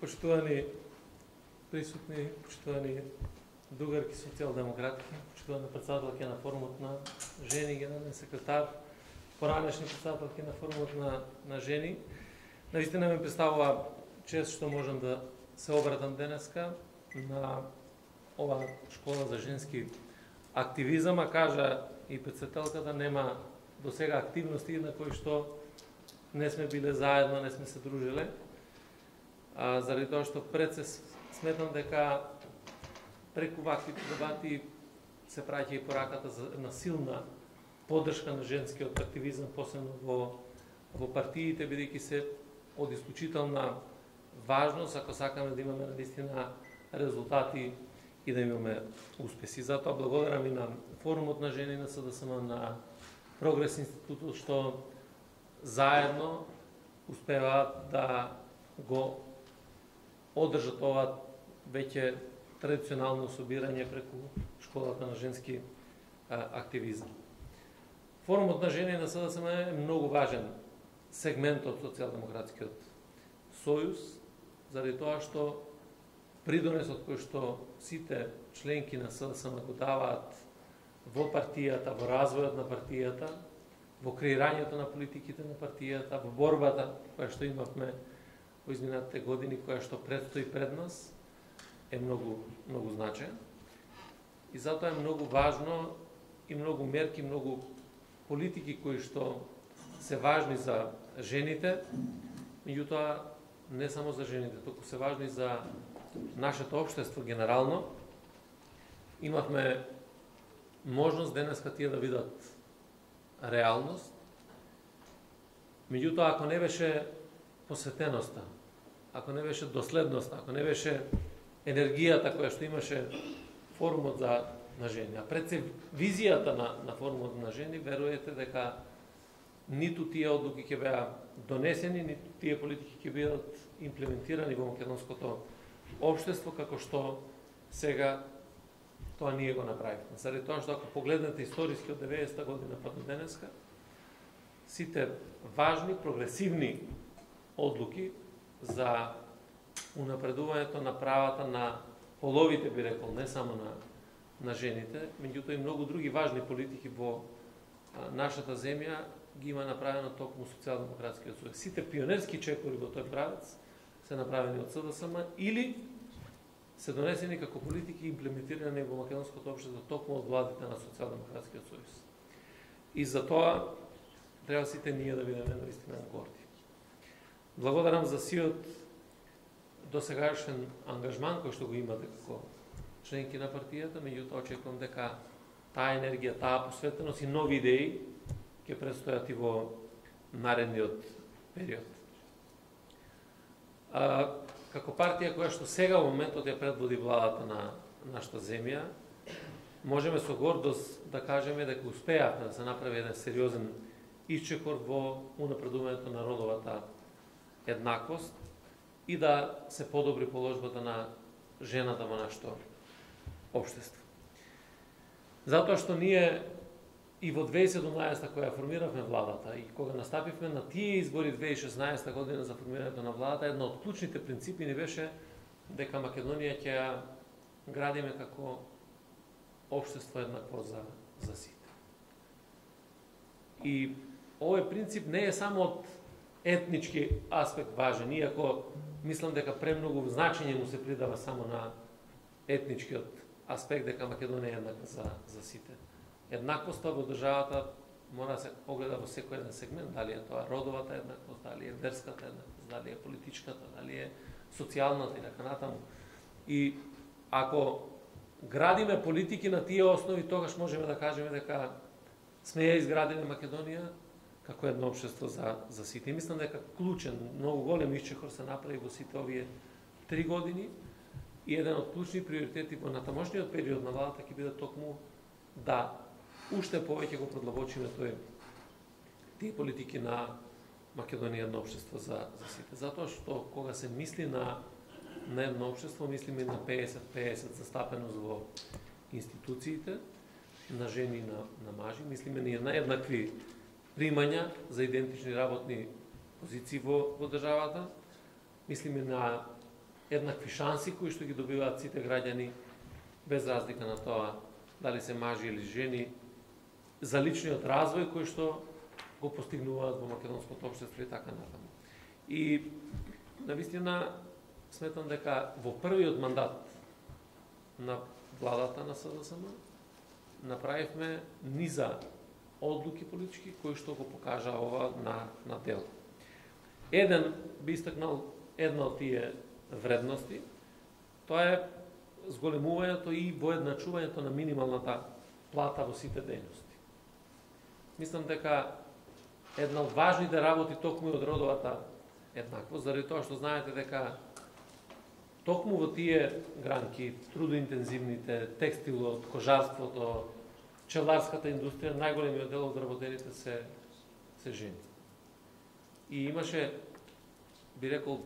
Почитувани присутни, почитувани другарки социјалдемократки, почитувани председателки на форумот на жени, генерален секретар, поранешни председателки на форумот на жени. Наистина ми представува чест што можам да се обратам денеска на ова школа за женски активизам, а кажа и председателката, нема до сега активности на кои што не сме биле заедно, не сме се дружиле. Заради тоа што пред се сметам дека преку ваквите дебати се праќа и пораката за една силна поддршка на женскиот активизам, посебно во партиите, бидејќи се од исклучителна важност ако сакаме да имаме наистина резултати и да имаме успеси. Затоа благодарам и на форумот на жени на СДСМ, на Прогрес институтот што заедно успеваат да го одржат ова веќе традиционално собирање преку школата на женски активизам. Форумот на жени на СДСМ е многу важен сегмент од социјалдемократскиот сојуз, заради тоа што придонесот кој што сите членки на СДСМ го даваат во партијата, во развојот на партијата, во креирањето на политиките на партијата, во борбата која што имавме во изминатите години, која што предстои пред нас, е многу значаен. И затоа е многу важно и многу мерки, многу политики кои што се важни за жените, меѓутоа не само за жените, туку се важни за нашето општество генерално. Имавме можност денеска тие да видат реалност. Меѓутоа, ако не беше посветеноста, ако не беше доследноста, ако не беше енергијата која што имаше форумот на жени, а пред се визијата на форумот на жени, веруете дека ниту тие одлуки ќе беа донесени, ниту тие политики ќе бидат имплементирани во македонското општество, како што сега тоа ние го направивме. Заради тоа што ако погледнете историски од 90-та година па до денеска, сите важни, прогресивни одлуки за унапредувањето на правата на половите, би рекол, не само на жените, меѓутоа и многу други важни политики во нашата земја ги има направено токму социјалдемократскиот сојуз. Сите пионерски чекори во тој правец се направени од СДСМ или се донесени како политики имплементирани во македонското општество токму од владите на социјалдемократскиот сојуз. И за тоа треба сите ние да бидеме наистина горди. Благодарам за сиот досегашен ангажман кој што го имате како членки на партијата, меѓутоа очекувам дека таа енергија, таа посветеност и нови идеи ќе предстојат и во наредниот период. Како партија која што сега во моментот ја предводи владата на нашата земја, можеме со гордост да кажеме дека успеавме да се направи еден сериозен исчекор во унапредувањето на родовата еднаквост и да се подобри положбата на жената во нашето општество. Затоа што ние и во 2017 која формиравме владата и кога настапивме на тие избори 2016 година за формирањето на владата, една од клучните принципи ни беше дека Македонија ќе ја градиме како општество еднакво за сите. И овој принцип не е само од етнички аспект важен, иако мислам дека премногу значење му се придава само на етничкиот аспект, дека Македонија е еднаква за сите. Еднаквоста во државата мора да се погледа во секој еден сегмент, дали е тоа родовата еднаквост, дали е верската еднаквост, дали е политичката, дали е социјалната и така натаму. И ако градиме политики на тие основи, тогаш можеме да кажеме дека сме ја изградиле Македонија како едно општество за сите. И мислам дека клучен, многу голем исчекор се направи во сите овие 3 години и еден од клучни приоритети во натамошниот период на владата ќе биде токму да уште повеќе го продлабочиме тие политики на Македонија едно општество за сите. Затоа што кога се мисли на едно општество, мислиме на 50-50 застапеност во институциите, на жени и на мажи, мислиме на еднакви примања за идентични работни позиции во државата, мислиме на еднакви шанси кои што ги добиваат сите граѓани без разлика на тоа дали се мажи или жени, за личниот развој кој што го постигнуваат во македонското општество и така натаму. И навистина сметам дека во првиот мандат на владата на СДСМ направивме низа одлуки политички кои што го покажа ова на дел. Еден би истакнал една од тие вредности, тоа е зголемувањето и воедначувањето на минималната плата во сите дејности. Мислам дека една од важните работи токму од родовата еднаквост, заради тоа што знаете дека токму во тие гранки, трудоинтензивните, текстилот, кожарството, пчеларската индустрија, најголемиот дел од работените се жени. И имаше, би рекол,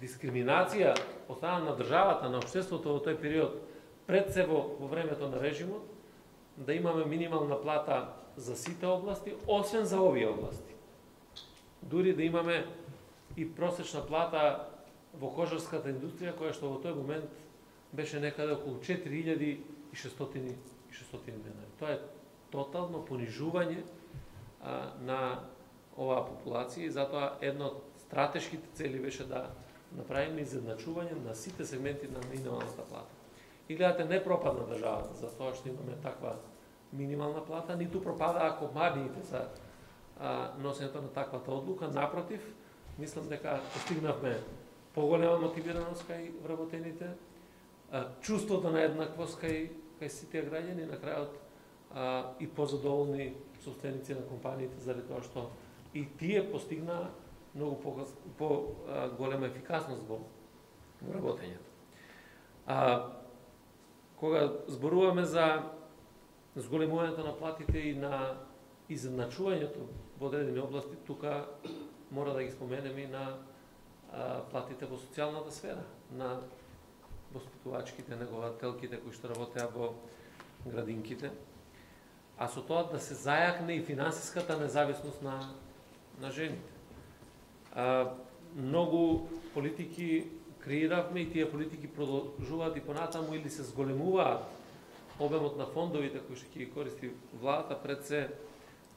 дискриминација од страна на државата, на општеството во тој период, пред се во времето на режимот, да имаме минимална плата за сите области, освен за овие области. Дури да имаме и просечна плата во кожарската индустрија, која што во тој момент беше некаде околу 4600 денари. Тоа е тотално понижување на оваа популација и затоа една од стратешките цели беше да направиме изедначување на сите сегменти на минималната плата. И гледате, не пропадна државата за тоа што имаме таква минимална плата, ниту пропада компаниите за носењето на таквата одлука. Напротив, мислам дека постигнавме поголема мотивираност кај вработените, чувството на еднаквост кај сите граѓани, на крајот и позадоволни собственици на компаниите, заради тоа што и тие постигнаа многу по-голема ефикасност во работењето. Кога зборуваме за зголемувањето на платите и на изедначувањето во одредени области, тука мора да ги споменеме и на платите во социјалната сфера, на воспитувачките, негователките кои што работеа во градинките, а со тоа да се зајакне и финансиската независност на жените. Многу политики креиравме и тие политики продолжуваат и понатаму или се зголемуваат обемот на фондовите кои што ќе ги користи владата, пред се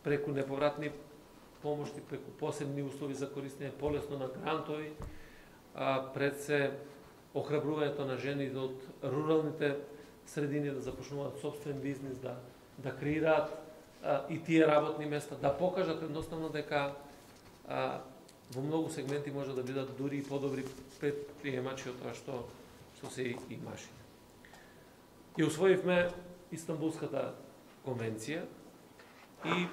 преку неповратни помошти, преку посебни услови за користење полесно на грантови, пред се охрабрувањето на жените од руралните средини да започнуваат собствен бизнис, да креираат и тие работни места, да покажат едноставно дека во многу сегменти може да бидат дури и подобри предприемачи од тоа што се и маши. И усвоивме Истанбулската конвенција и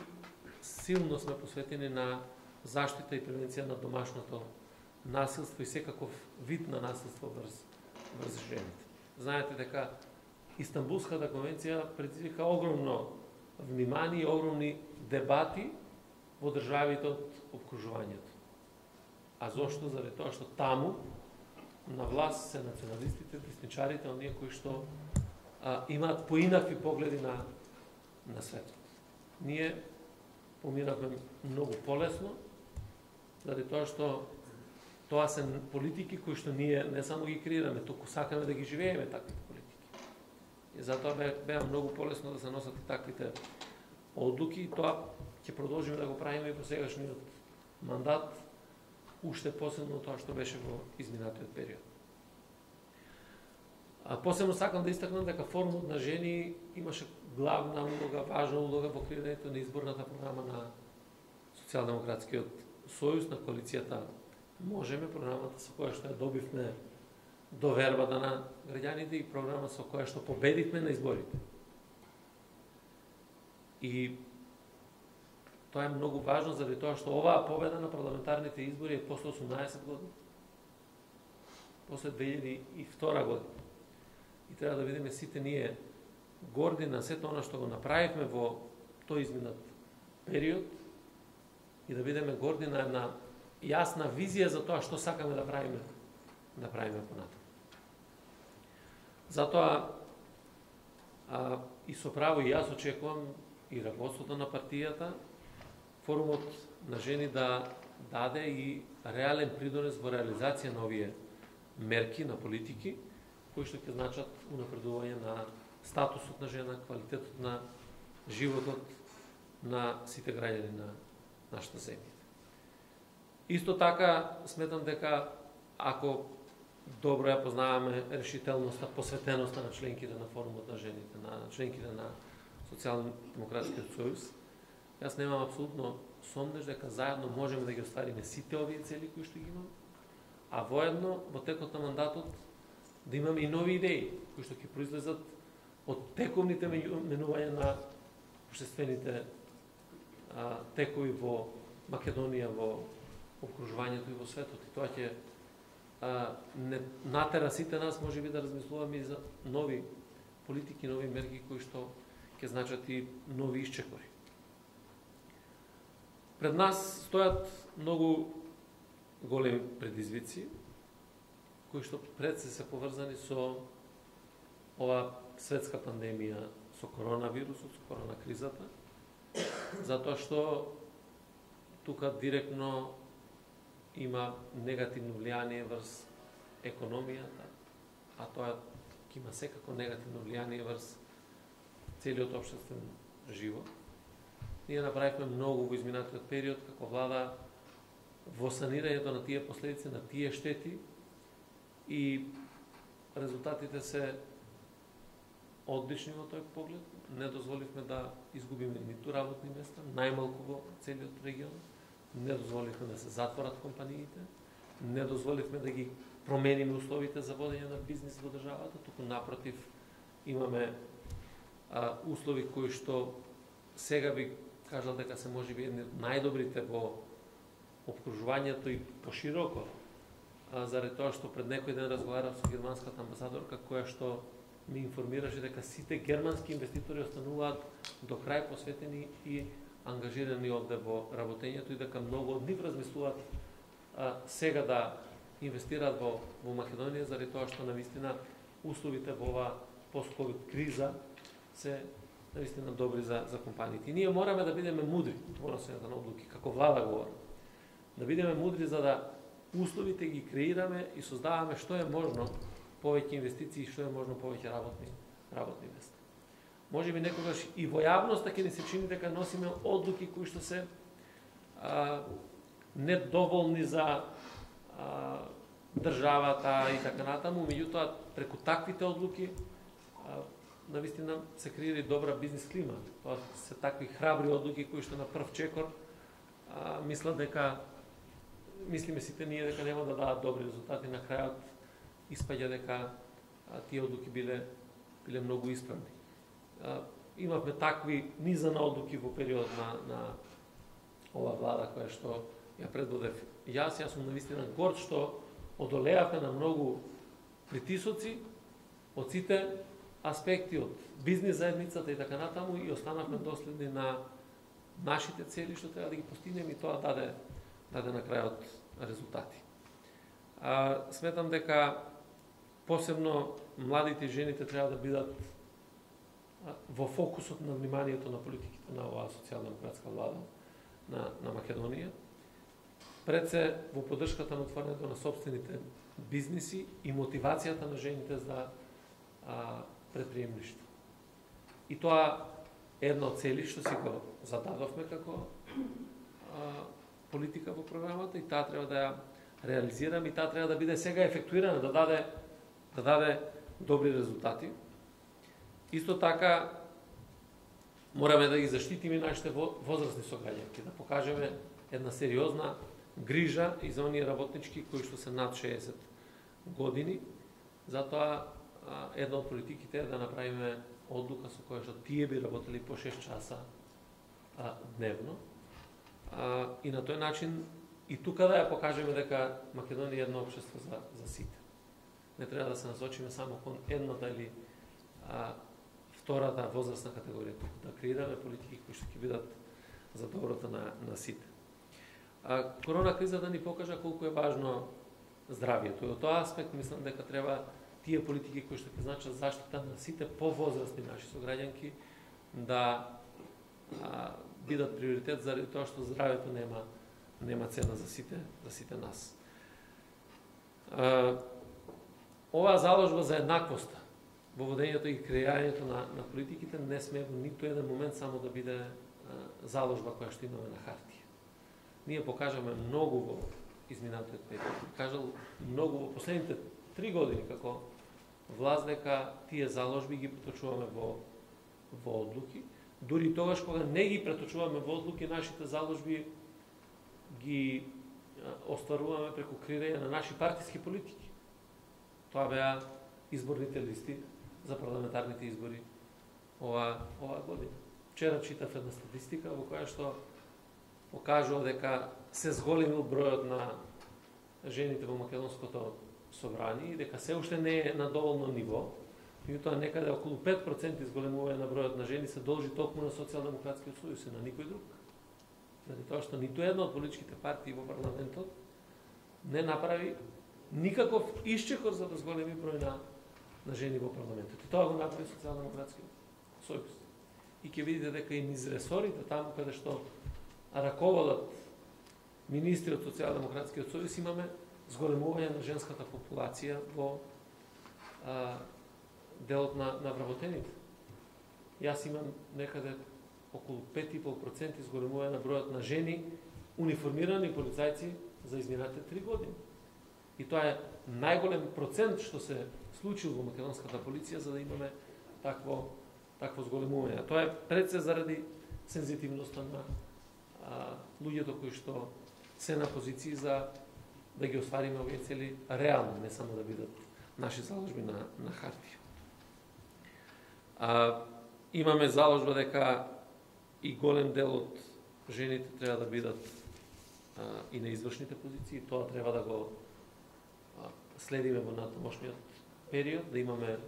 силно сме посветени на заштита и превенција на домашното насилство и секаков вид на насилство врз жените. Знаете дека Истанбулската конвенција предизвика огромно внимание и огромни дебати во државите од обкружувањето. А зошто? Заради тоа што таму на власт се националистите, десничарите, оние кои што имаат поинакви погледи на светот. Ние поминавме многу полесно, заради тоа што тоа се политики кои што ние не само ги креираме, туку сакаме да ги живееме таквите политики. И затоа беа многу полесно да се носат и таквите одлуки и тоа ќе продолжиме да го правиме и во сегашниот мандат, уште посебно тоа што беше во изминатиот период. Посебно сакам да истакнам дека форумот на жени имаше главна улога, важна улога во креирањето на изборната програма на Социјалдемократскиот сојуз, на коалицијата Можеме, програмата со која што ја добивме довербата на граѓаните и програма со која што победивме на изборите. И тоа е многу важно заради тоа што оваа победа на парламентарните избори е после 18 години. После 2002 година. И треба да видиме сите ние горди на сето она што го направивме во тој изминат период и да видиме горди на една јасна визија за тоа што сакаме да правиме понатаму. Затоа и со право и јас очекувам и раководството на партијата, форумот на жени да даде и реален придонес во реализација на овие мерки, на политики, кои што ќе значат унапредување на статусот на жена, квалитетот на животот на сите граѓани на нашата земја. Исто така, сметам дека ако добро ја познаваме решителноста, посветеноста на членките на форумот на жените, на членките на Социјално-демократскиот сојуз, јас немам апсолутно сомнеж дека заедно можеме да ги оствариме сите овие цели кои што ги имаме, а воедно во текот на мандатот да имаме и нови идеи кои што ќе произлезат од тековните менувања на општествените текови во Македонија, во обкружувањето и во светот. И тоа ќе не натера сите нас можеби да размислуваме и за нови политики, нови мерки кои што ќе значат и нови исчекори. Пред нас стојат многу големи предизвици кои што пред се поврзани со ова светска пандемија, со коронавирусот, со коронакризата, затоа што тука директно има негативно влијание врз економијата, а тоа ќе има секако негативно влијание врз целиот општествен живот. Ние направивме многу во изминатиот период како влада во санирањето на тие последици, на тие штети, и резултатите се одлични во тој поглед. Не дозволивме да изгубиме ниту работни места, најмалку во целиот регион. Не дозволивме да се затворат компаниите, не дозволивме да ги промениме условите за водење на бизнис во државата, туку напротив имаме услови кои што сега би кажал дека се можеби едни од најдобрите во обкружувањето и пошироко, заради тоа што пред некој ден разговарав со германската амбасадорка која што ми информираше дека сите германски инвеститори остануваат до крај посветени и ангажирани овде во работењето и дека многу од нив размислуваат сега да инвестираат во Македонија, заради тоа што навистина условите во оваа пост-ковид криза се навистина добри за компаниите. И ние мораме да бидеме мудри во носењето на одлуки, како влада говорам. Да бидеме мудри за да условите ги креираме и создаваме што е можно повеќе инвестиции, што е можно повеќе работни места. Може би некогаш и во јавноста ќе ни се чини дека носиме одлуки кои што се недоволни за државата и така натаму, меѓутоа преку таквите одлуки навистина се креира и добра бизнис клима. Тоа се такви храбри одлуки кои што на прв чекор мислиме сите ние дека нема да дадат добри резултати, на крајот испаѓа дека тие одлуки биле многу исправни. Имавме такви низа на одлуки во период на ова влада која што ја предводев јас сум навистина горд што одолеавме на многу притисоци од сите аспекти, од бизнис заедницата и така натаму, и останавме доследни на нашите цели што треба да ги постигнеме, и тоа даде на крајот резултати. Сметам дека посебно младите и жените треба да бидат во фокусот на вниманието на политиките на оваа социјалдемократска влада на Македонија. Пред се во поддршката на отварането на собствените бизниси и мотивацијата на жените за предприемништво. И тоа е едно од цели што си го зададовме како политика во програмата, и таа треба да ја реализираме, и таа треба да биде сега ефектуирана, да даде добри резултати. Исто така мораме да ги заштитиме нашите возрастни сограѓанки, да покажеме една сериозна грижа и за оние работнички кои што се над 60 години. Затоа една од политиките е да направиме одлука со која што тие би работели по 6 часа дневно. И на тој начин и тука да ја покажеме дека Македонија е едно општество за сите. Не треба да се насочиме само кон едната или втората возрастна категорија, туку да креираме политики кои што ќе бидат за доброто на сите. Корона кризата ни покажа колку е важно здравието. И од тоа аспект мислам дека треба тие политики кои што ќе значат заштита на сите повозрастни наши сограѓанки да бидат приоритет, заради тоа што здравието нема цена за сите нас. оваа заложба за еднаквоста во водењето и креирањето на политиките не сме во ниту еден момент само да биде заложба која што имаме на хартија. Ние покажаме многу во изминатиот период. Кажал многу во последните 3 години како власт дека тие заложби ги преточуваме во одлуки. Дури тогаш кога не ги преточуваме во одлуки, нашите заложби ги остваруваме преку креирање на наши партиски политики. Тоа беа изборните листи за парламентарните избори оваа година. Вчера читав една статистика во која што покажува дека се зголемил бројот на жените во македонското собрание и дека се уште не е на доволно ниво, меѓутоа некаде околу 5% изголемување на бројот на жени се должи токму на Социјалдемократскиот сојуз и на никој друг. Заради тоа што ниту една од политичките партии во парламентот не направи никаков исчекор за да зголеми број на жени во парламентот. И тоа го направи Социјалдемократскиот сојуз. И ќе видите дека и низ ресорите, таму каде што раководат министри од Социјалдемократскиот сојуз, имаме зголемување на женската популација во делот на вработените. Јас имам некаде околу 5,5% зголемување на бројот на жени униформирани полицајци за изминатите 3 години. И тоа е најголем процент што се случил во македонската полиција за да имаме такво зголемување. Тоа е пред се заради сензитивноста на луѓето кои што се на позиции за да ги оствариме овие цели реално, не само да бидат наши заложби на хартија. Имаме заложба дека и голем дел од жените треба да бидат и на извршните позиции. Тоа треба да го следиме во натамошниот период, да имаме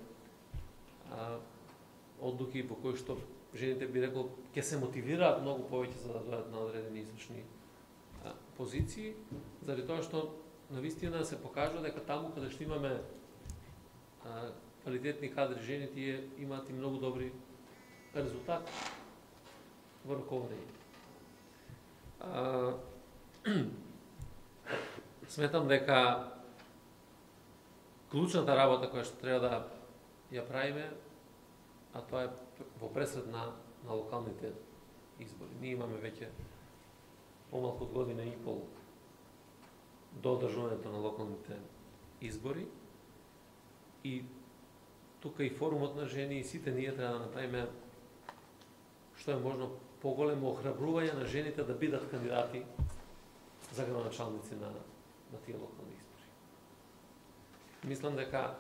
одлуки во кои што жените би рекол ќе се мотивираат многу повеќе за да дојдат на одредени извршни позиции, заради тоа што навистина се покажува дека таму каде што имаме квалитетни кадри жени, тие имаат и многу добри резултати во раководење. Сметам дека клучната работа која што треба да ја правиме, а тоа е во пресред на локалните избори. Ние имаме веќе помалку од година и пол до одржувањето на локалните избори и тука и форумот на жени и сите ние треба да направиме што е можно поголемо охрабрување на жените да бидат кандидати за градоначалници на тие локални избори. Мислам дека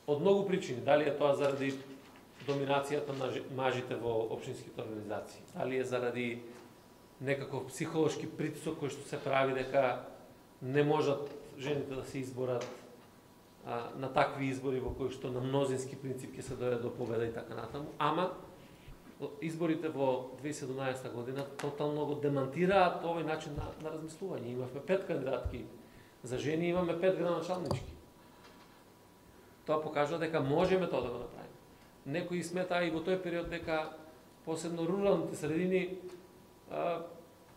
од многу причини, дали е тоа заради доминацијата на мажите во општинските организации, дали е заради некаков психолошки притисок кој што се прави дека не можат жените да се изборат на такви избори во кои што на мнозински принцип ќе се дојде до победа и така натаму, ама изборите во 2017 година тотално го демантираат овој начин на размислување. Имавме 5 кандидатки за жени, имаме 5 градоначалнички. Тоа покажува дека можеме тоа да го направиме. Некои сметаа и во тој период дека посебно руралните средини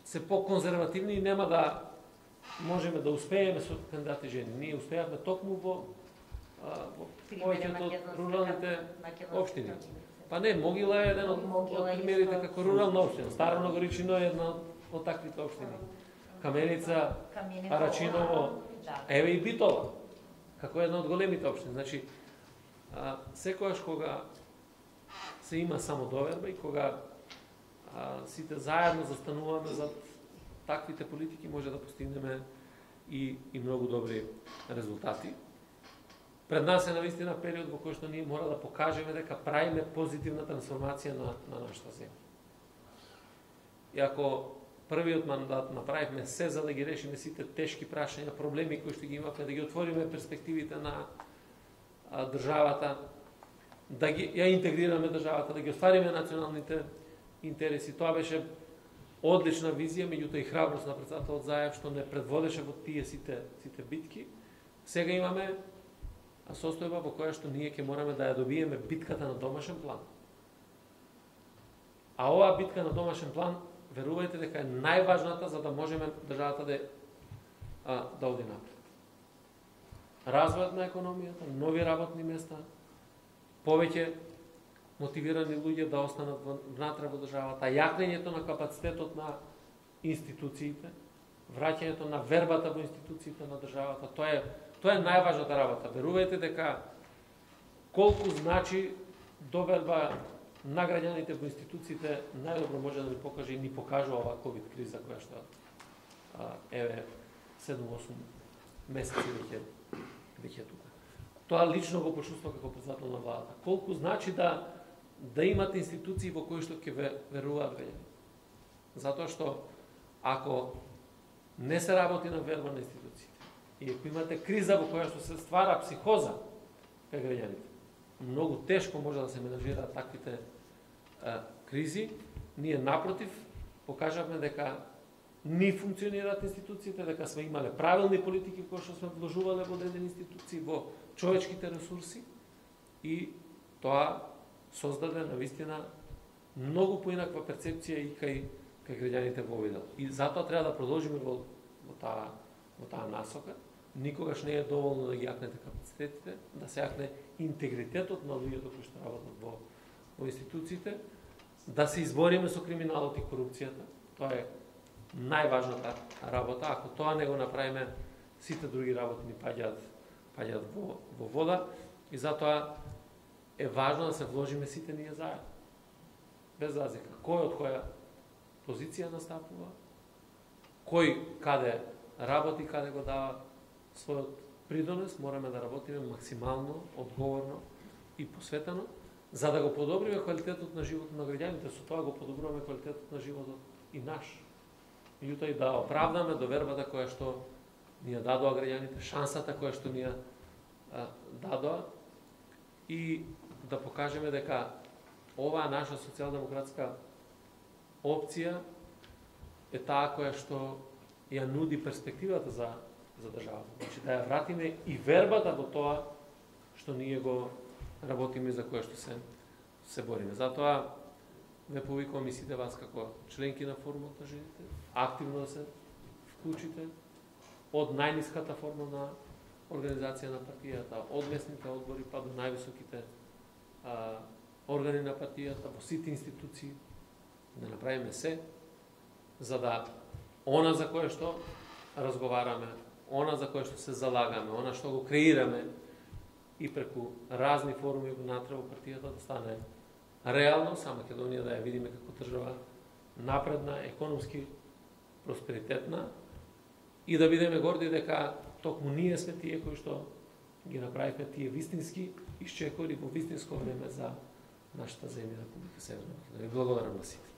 се по-конзервативни и нема да можеме да успееме со кандидати жени. Ние успеавме токму во повеќето од руралните општини. Па не, Могила е еден од примерите како рурална општина. Старо Многоречино е една од таквите општини. Каменица, Арачиново, еве и Битола, како една од големите општини. Значи, секогаш кога се има самодоверба и кога сите заедно застануваме за таквите политики, може да постигнеме и многу добри резултати. Пред нас е навистина период во кој што ние мора да покажеме дека правиме позитивна трансформација на нашата земја. И ако првиот мандат направивме се за да ги решиме сите тешки прашања, проблеми кои што ги имавме, да ги отвориме перспективите на државата, да ја интегрираме државата, да ги оствариме националните интереси. Тоа беше одлична визија, меѓутоа и храброст на председателот Заев што не предводеше во тие сите битки. Сега имаме состојба во која што ние ќе мораме да ја добиеме битката на домашен план. А оваа битка на домашен план, верувајте дека е најважната за да можеме државата да оди напред. развојот на економијата, нови работни места, повеќе мотивирани луѓе да останат внатре во државата, јакнењето на капацитетот на институциите, враќањето на вербата во институциите на државата, тоа е најважната работа. Верувајте дека колку значи доверба на граѓаните во институциите, најдобро може да ни покаже и ни покажува оваа ковид криза која што еве 7-8 месеци веќе тука. Тоа лично го почувствува како председател на владата. Колку значи да имате институции во кои што ќе веруваат граѓаните. Затоа што ако не се работи на верба на институциите и ако имате криза во која што се ствара психоза кај граѓаните, многу тешко може да се менажираат таквите кризи. Ние напротив покажавме дека ни функционираат институциите, дека сме имале правилни политики кои што сме вложувале во одредени институции, во човечките ресурси и тоа создаде навистина многу поинаква перцепција и кај граѓаните во овој дел. И затоа треба да продолжиме во таа насока. Никогаш не е доволно да ги јакнете капацитетите, да се јакне интегритетот на луѓето кои што работат во институциите, да се избориме со криминалот и корупцијата. Тоа е најважната работа. Ако тоа не го направиме, сите други работи ни паѓаат во вода и затоа е важно да се вложиме сите ние заедно. Без разлика кој од која позиција настапува, кој каде работи, каде го дава својот придонес, мораме да работиме максимално, одговорно и посветено, за да го подобриме квалитетот на животот на граѓаните. Со тоа го подобруваме квалитетот на животот и наш. Меѓутоа и да оправдаме довербата која што ни ја дадоа граѓаните, шансата која што ни ја дадоа и да покажеме дека оваа наша социјалдемократска опција е таа која што ја нуди перспективата за државата. Значи да ја вратиме и вербата во тоа што ние го работиме, за кое што се бориме. Затоа ве повикувам и сите вас како членки на форумот на жените, активно да се вклучите од најниската форма на организација на партијата, од местните одбори па до највисоките органи на партијата, во сите институции, да направиме се за да она за кое што разговараме, она за кое што се залагаме, она што го креираме и преку разни форуми внатре во партијата да стане реално, сама Македонија да ја видиме како држава напредна, економски просперитетна и да бидеме горди дека токму ние сме тие кои што ги направивме тие вистински исчекори во вистинско време за нашата земја, Република Северна Македонија. Благодарам на сите.